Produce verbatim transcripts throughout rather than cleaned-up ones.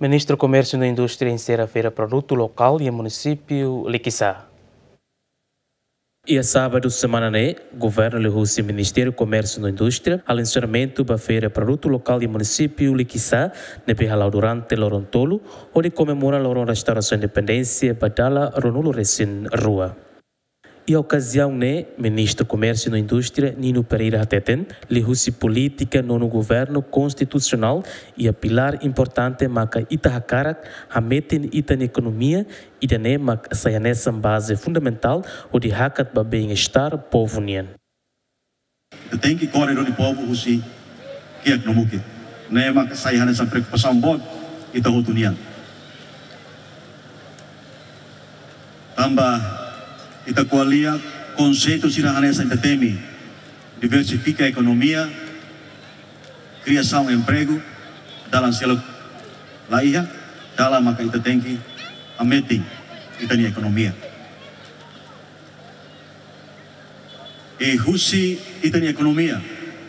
Ministru Komérsiu no Indústria enserra feira produtu lokál iha munisípiu Likisá. Iha sábadu semana ne'e, governu liuhusi Ministériu Komérsiu no Indústria halo enserramentu ba feira produtu lokál iha munisípiu Likisá, ne'ebé hala'o durante loron tolu, hodi komemora loron restaurasaun independénsia ba dala ruanulu-resin-rua. Iha okaziaun ne'e, Ministru Komérsiu no Indústria, Nino Pereira hateten, liuhusi polítika nonu governu konstitusionál iha pilár importante maka ita hakarak hametin ita-nia ekonomia, ida-ne'e mak sai hanesan baze fundamentál hodi hakat ba bem-estar povu nian. Ita tenke kore duni povu husi kiak no mukit. Ne'e mak sai hanesan preokupasaun boot ita hotu nian. Tanba ita ko'alia konseitu sira hanesan ita temi diversifika ekonomia, kriasaun empregu, dalan seluk la iha, dala maka ita tenke hametin ita-nia ekonomia. I husi ita-nia ekonomia,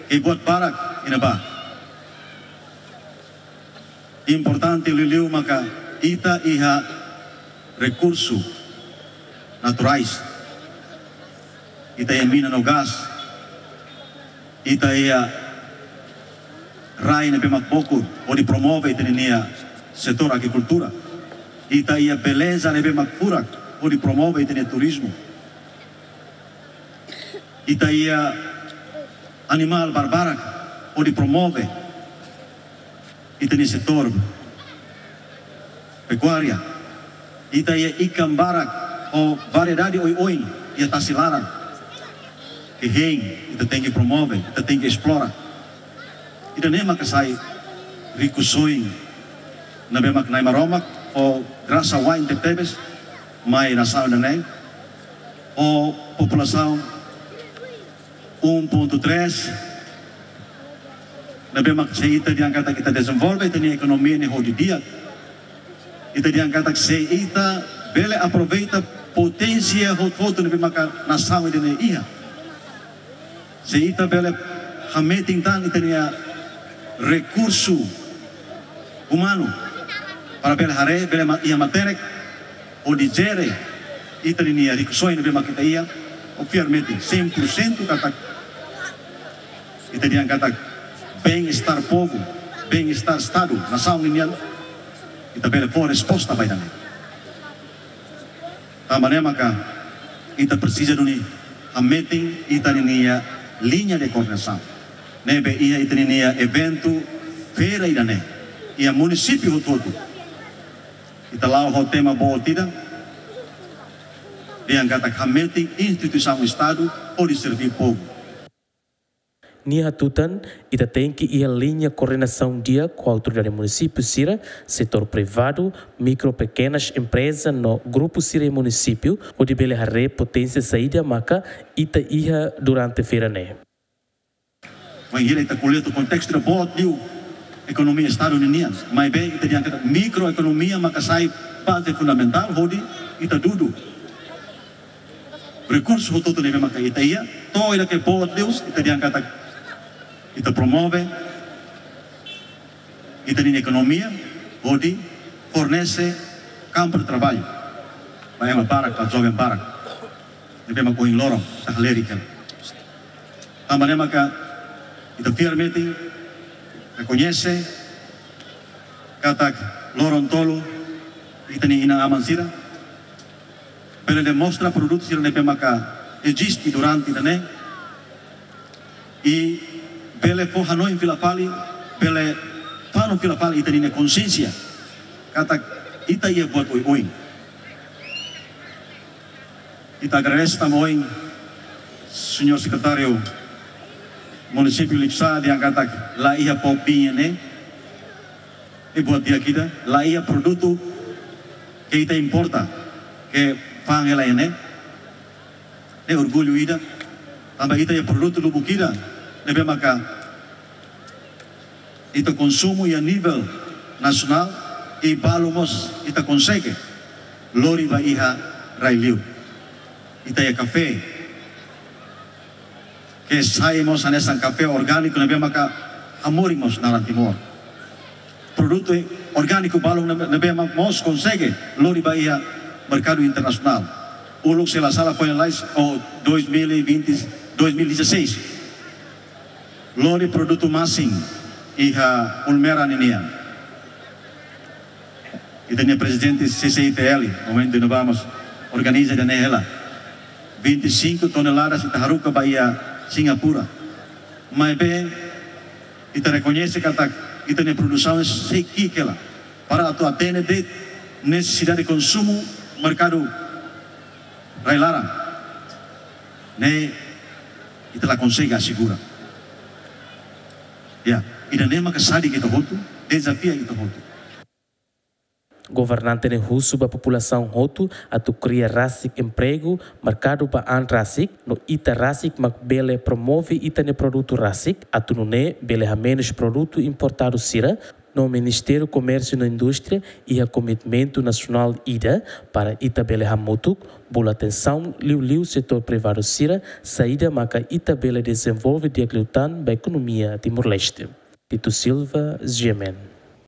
ke buat barak iha ne'ebá. Importante liuliu maka ita iha rekursu naturais. Ita iha mina no gás. Ita iha rai ne'ebé mak bokur hodi promove ita-nia setór agrikultura. Ita iha beleza ne'ebé mak furak hodi promove ita-nia turizmu. Ita iha animál barbarak hodi promove ita-nia setór pekuária. Ita iha ikan barak ho variedade oioin iha tasi laran. Ke hein, ita tenke promove, ita tenke esplora. Ida-ne'e maka sai rikusoin ne'ebé mak Na'i Maromak fó grasa wa'in tebetebes mai nasaun ida-ne'e. Ho populasaun um ponto três, ne'ebé mak se ita dehan katak ita dezenvolve ita-nia ekonomia ne'e ho di'ak, ita dehan katak se ita bele aproveita poténsia hotu-hotu ne'ebé maka nasaun ida-ne'e iha. Se ita bele hametin tan ita-nia rekursu umanu para bele haree, bele ma-, iha matenek hodi jere ita-nia rikusoin ne'ebé mak ita iha, ha'u fiar metin cem por cento katak ita dehan katak bem-estar povu, bem-estar Estadu, nasaun nian, ita bele fó resposta ba ida-ne'e. Tanba ne'e maka ita presiza duni hametin ita-nia liña de koordenasaun. Ne'ebé iha ita-nia eventu feira ida-ne'e iha munisípiu hotu-hotu. Ita la'o ho tema boot ida, dehan katak hametin instituisaun Estadu hodi serví povu. Nia hatutan, ita tenke iha liña koordenasaun di'ak ho autoridade munisípiu sira, setór privadu, mikro pekenas empreza no grupu sira iha munisípiu, hodi bele haree poténsia saida maka ita iha durante feira ne'e. Wainhira ita ko'alia to'o kontestu ida boot liu ekonomia Estadu ninian, maibé ita dehan katak mikroekonomia maka sai baze fundamentál hodi ita dudu rekursu hotu-hotu ne'ebé maka ita iha, to'o ida ke boot liu, ita dehan katak ita promove ita-nia ekonomia hodi fornese kampu de traballu ba ema barak, ba joven barak ne'ebé mak ohin loron ita halerik hela. Tanba ne'e maka ita fiar metin rekoñese katak loron tolu ita-nia inan-aman sira bele demonstra produtu sira ne'ebé maka eziste durante ida-ne'e, i bele fó hanoin fila fali, bele fanu fila fali ita-nia konxiénsia katak ita iha buat oioin. Ita agradese tanba ohin Señór Sekretáriu Munisípiu Likisá dehan katak la iha pop-up iha ne'e, i buat di'ak ida, la iha produtu ke ita importa ke fa'an hela iha ne'e. Ne'e orgullu ida, tanba ita iha produtu lubuk ida ne'ebé maka ita konsumu iha nivel nasionál, i balu mós ita konsege lori ba iha rai-liur. Ita iha kafé ke sai mós hanesan kafé orgániku ne'ebé maka hamoris mós naran Timor. Produtu orgániku balun ne'ebé mak mós konsege lori ba iha merkadu internasionál. Uluk se la sala foin lalais ou dois mil e vinte, dois mil e dezasseis, lori produtu masin iha Ulmera ninian. Ita-nia prezidente C C I T L, momentu ne'ebá mós organiza ida-ne'e hela. Vinte e cinco toneladas ita haruka ba iha Singapura. Maibé ita rekoñese katak ita-nia produsaun sei ki'ik hela para atu atende de'it nesesidade konsumu merkadu rai-laran. Ne'e ita la konsege asegura. Ya, ida-ne'e maka sadik ita hotu, dezafia ita hotu. Governante ne'e husu ba populasaun hotu atu kria rasik empregu, merkadu ba an rasik, no ita rasik mak bele promove ita-nia produtu rasik, atu nune'e bele hamenus produtu importadu sira, no Ministériu Komérsiu no Indústria iha komitmentu nasionál ida para ita bele hamutuk bolu atensaun liuliu setór privadu sira, saida maka ita bele dezenvolve di'ak liután ba ekonomia Timor-Leste. Tito Silva, G M N.